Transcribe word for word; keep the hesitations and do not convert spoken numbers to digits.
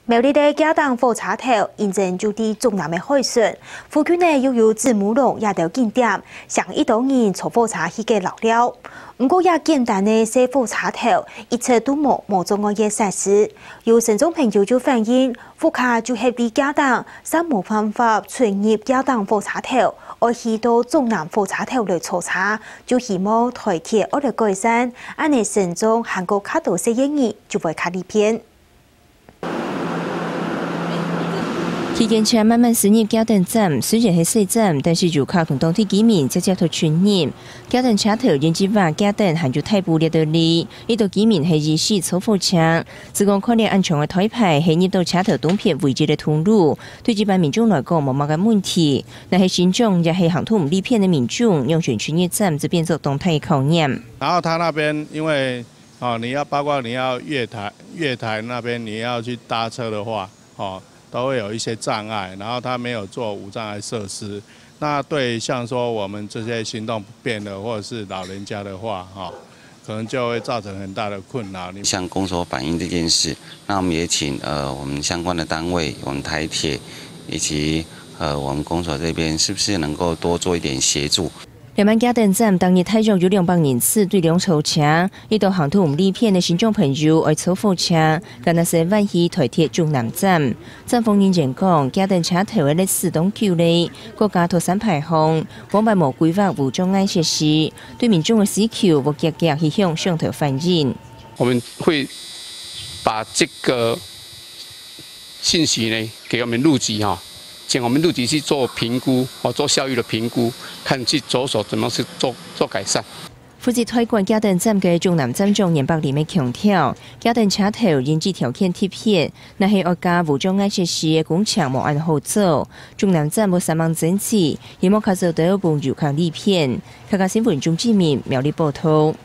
苗栗个茄苳火車頭，因為就在竹南个海脣，附近呢又有子母龍這兜景點，成一兜人坐火車去該遶尞。毋過，這簡單个細火車頭，一直都無無障礙个設施。有身障朋友就反映，屋下就係在茄苳，嗄無辦法出入茄苳火車頭，愛去到竹南火車頭來坐車，就希望台鐵愛來改善，恁呢身障還過較多細人仔就會較利便。 區間車慢慢駛入茄苳站，雖然係細站，但是遊客同當地居民捷捷就出入。茄苳車頭因為這下茄苳還有大埔這兜哩，一兜居民係一時坐火車。只講看了恁長个台牌，係入到車頭東片唯一个通路，對一般民眾來講無麼个問題。若係身障也係行動毋利便个民眾，仰般出入站就變做當大个考驗。然後他那邊因為 哦，你要，包括你要月台，月台那邊你要去搭車的話，哦，都會有一些障礙，然後它沒有做無障礙設施。那對像說我們這些行動不便的或者是老人家的話，哦，可能就會造成很大的困擾。你向公所反映這件事，那我們也請，呃，我們相關的單位，我們台鐵以及，呃，我們公所這邊是不是能夠多做一點協助？ 這滿茄苳站逐日大約有兩百人次對量坐車，一兜行動毋利便个身障朋友愛坐火車，干焦係換去台鐵竹南站。站方人員講，茄苳車頭个歷史當久咧，國家頭三排項，往擺無規劃無障礙設施，對民眾个需求無遽遽去向上頭反映。 我們會把這個信息呢，給我們路局哈，請我們路局去做評估，哦，做效益的評估，看去著手怎麼去做，做改善。負責代管茄苳站个竹南站長顏伯霖也強調，茄苳車頭因為條件特別，若係愛加無障礙設施个工程無恁好做，竹南站會煞猛整治，希望較做得分遊客利便。客家新聞鍾志明苗栗報導。